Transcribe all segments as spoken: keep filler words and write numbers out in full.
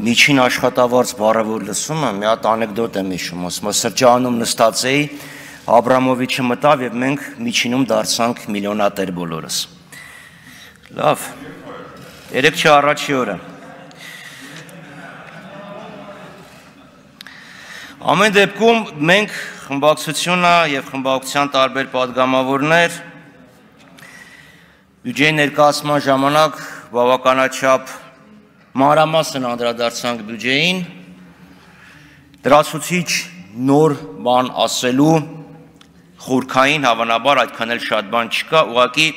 միջին աշխատավարձ բառը որ լսում եմ, մի հատ անեկդոտ եմ հիշում, ասում եմ սրճարանում նստած էի, Աբրամովիչը մտավ եւ մենք միջինում դարձանք միլիոնատեր բոլորս։ Լավ։ Երեք չի առաջի օրը։ Ամեն դեպքում մենք խմբակցությունը եւ խմբակցության տարբեր падգամավորներ բյուջեի ներկայացման ժամանակ բավականաչափ մանրամասն անդրադարձանք բյուջեին, դրացուցիչ նոր բան ասելու խորքային հավանաբար այդքան էլ շատ բան չկա, ուղղակի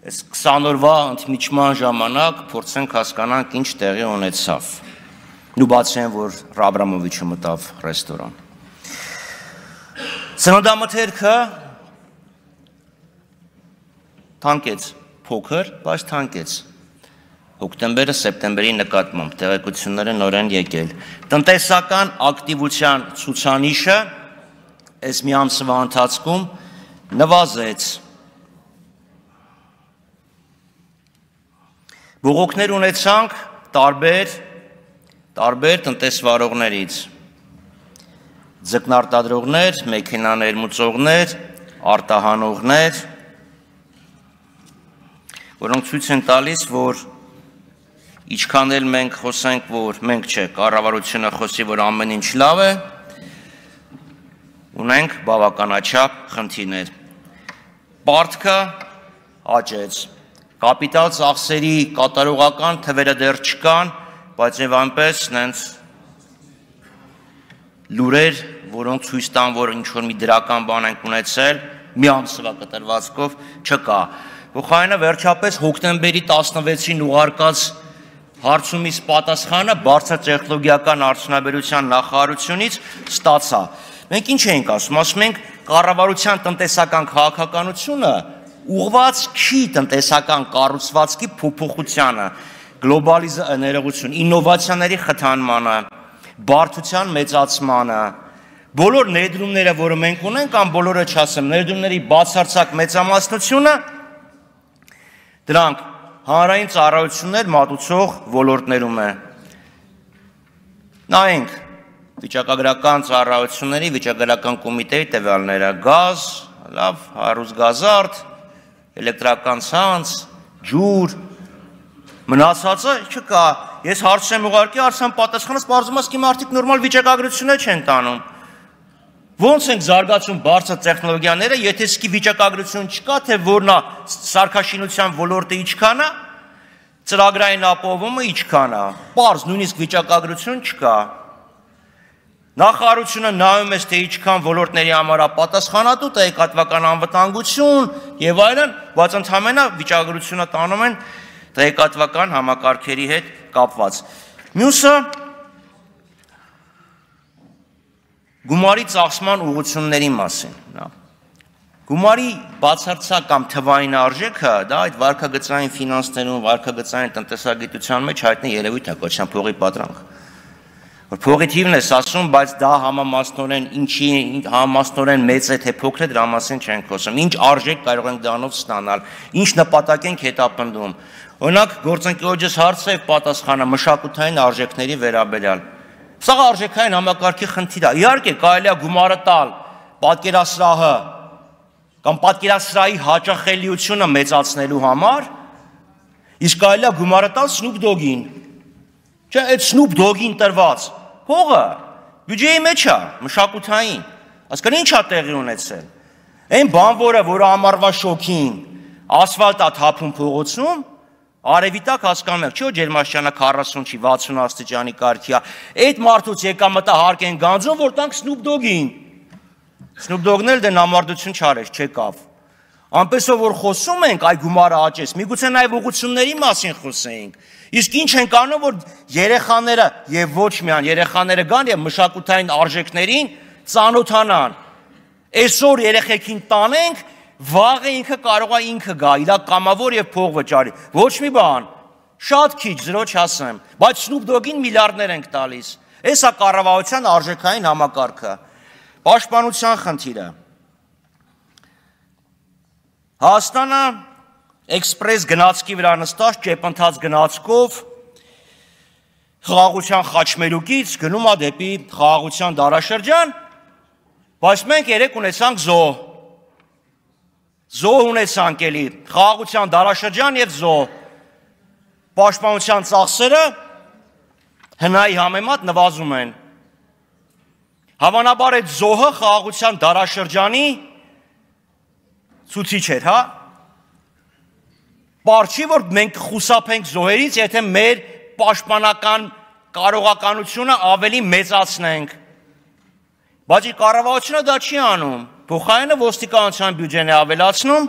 այս քսան օրվա ընդմիջման ժամանակ փորձենք հասկանանք ինչ տեղի ունեցավ։ Ու բացի այն, որ Աբրամովիչը մտավ ռեստորան։ Ծննդամթերքը թանկեց, փոքր, բայց թանկեց։ Հոկտեմբերը սեպտեմբերի նկատմամբ տեղեկությունները նոր են եկել։ Տնտեսական ակտիվության ցուցանիշը այս մի ամսվա ընթացքում նվազեց։ Բողոքներ ունեցանք տարբեր տարբեր տնտեսվարողներից։ Ձկնարտադրողներ, մեքենա ներմուծողներ, արտահանողներ, որոնք ցույց են տալիս, որ ինչքան էլ մենք խոսենք, որ մենք չէ, կառավարությունը խոսի, որ ամեն ինչ լավ է, ունենք բավականաչափ խնդիրներ։ Պարտքը աճեց։ Կապիտալ ծախսերի կատարողական թվերը դեռ չկան, բայց եւ այնպես նենց լուրեր, որոնք ցույց տան, որ ինչ որ մի դրական բան ենք ունեցել, մի ամսվա կտրվածքով չկա։ Փոխարենը վերջապես հոկտեմբերի տասնվեցին ուղարկած հարցումից պատասխանը բարձր տեխնոլոգիական արդյունաբերության նախարարությունից ստացա։ Մենք ինչ ենք ասում, ասում ենք կառավարության տնտեսական քաղաքականությունը ուղղված չի տնտեսական կառուցվածքի փոփոխությանը, գլոբալիզացիա, ներողություն, ինովացիաների խթանմանը, բարդության մեծացմանը, բոլոր ներդրումները, որը մենք ունենք, կամ բոլորը չասեմ, ներդրումների բացարձակ մեծամասնությունը, դրանք հանրային ծառայություններ մատուցող ոլորտներում է։ Նայենք վիճակագրական ծառայությունների վիճակագրական կոմիտեի տվյալները՝ գազ, լավ, հարուսգազարդ, էլեկտրական ցանց, ջուր, մնացածը չկա։ Ես հարց եմ ուղարկի, հարցան պատասխանս պարզվում է, कि մարդիկ նորմալ վիճակագրություններ չեն տանում։ Ոնց ենք զարգացում բարձր տեխնոլոգիաները, եթե սկի վիճակագրություն չկա, թե որն է սարքաշինության ոլորտը ինչքան է, ծրագրային ապահովումը ինչքան է։ Պարզ նույնիսկ վիճակագրություն չկա։ Նախարարությունը նայում է, թե ինչքան ոլորտների համար է պատասխանատու, տեղեկատվական անվտանգություն եւ այլն, բայց ընդհանրապես վիճակագրությունը տանում են տեղեկատվական համակարգերի հետ կապված։ Մյուսը գումարի ծախսման ուղղությունների մասին։ Գումարի բացարձակ կամ թվային արժեքը, դա այդ վարկագծային ֆինանսներում, վարկագծային տնտեսագիտության մեջ հայտնի երևույթ է, կոչվում փողի պատրանք։ Որ փողի թիվն է ասում, բայց դա համամասնորեն ինչի համամասնորեն մեծ է թե փոքր է, դրա մասին չենք խոսում։ Ինչ արժեք կարող ենք դրանով ստանալ, ինչ նպատակ ենք հետապնդում։ Օրինակ, գործընկերոջս հարցը եւ պատասխանը մշակութային արժեքների վերաբերյալ։ Սա արժեքային համակարգի խնդիր է։ Իհարկե, կարելի է գումարը տալ պատկերասրահը կամ պատկերասրահի հաճախելիությունը մեծացնելու համար, իսկ կարելի է գումարը տալ Snoop Dogg-ին։ Չէ, այդ Snoop Dogg-ին տրված փողը բյուջեի մեջ է, մշակութային։ Հասկան ի՞նչ է տեղի ունեցել։ Այն բանվորը, որը ամառվա շոքին ասֆալտ է թափում փողոցում, արևի տակ հասկանում եք, չէ՞ ջերմաստիճանը քառասուն չի, վաթսուն աստիճանի կարգի է։ Այդ մարդուց եկամտը հարկ են գանձում, որ տանք Snoop Dogg-ին։ Snoop Dogg-ն էլ դե նամարդություն չարեց, չեկավ։ Անպեսով որ խոսում ենք, այ գումարը աճեց, միգուցե նաև ուղղությունների մասին խոսեինք։ Իսկ ինչ ենք անում, որ երեխաները եւ ոչ միայն երեխաները գան եւ մշակութային արժեքներին ծանոթանան։ Այսօր երեխեքին տանենք, վաղը ինքը կարող է ինքը գա, իրա կամավոր եւ փող վճարի։ Ոչ մի բան։ Շատ քիչ, զրո չասեմ, բայց Snoop Dogg-ին միլիարդներ ենք տալիս։ Էսա կառավարության արժեքային համակարգը։ Պաշտպանության խնդիրը։ Հայաստանը էքսպրես գնացքի վրա նստած ճեպընթաց գնացքով խաղաղության խաչմերուկից գնում է դեպի խաղաղության դարաշրջան, բայց մենք երեք ունեցանք զոհ։ Զոհ ունեցանք էլի, խաղաղության դարաշրջան եւ զոհ։ Պաշտպանության ծախսերը հնայի համեմատ նվազում են։ Հավանաբար այդ զոհը խաղաղության դարաշրջանի ցուցիչ էր, հա։ Պարզ չի, որ մենք խուսափենք զոհերից, եթե մեր պաշտպանական կարողականությունը ավելի մեծացնենք։ Բայց կառավարությունը դա չի անում։ Փոխարենը ոստիկանության բյուջեն է ավելացնում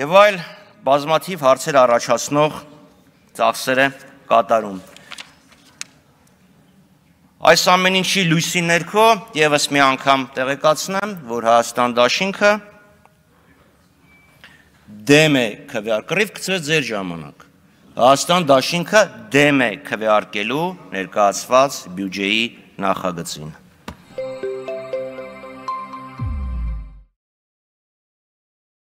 եւ այլ բազմաթիվ հարցեր առաջացնող ծախսեր է կատարում։ Այս ամեն ինչի լույսի ներքո եւս մի անգամ տեղեկացնեմ, որ Հայաստան դաշինքը դեմ է քվեարկել, կռիվ գցրեց ձեր ժամանակ։ Հայաստան դաշինքը դեմ է քվեարկելու ներկայացված բյուջեի նախագծին։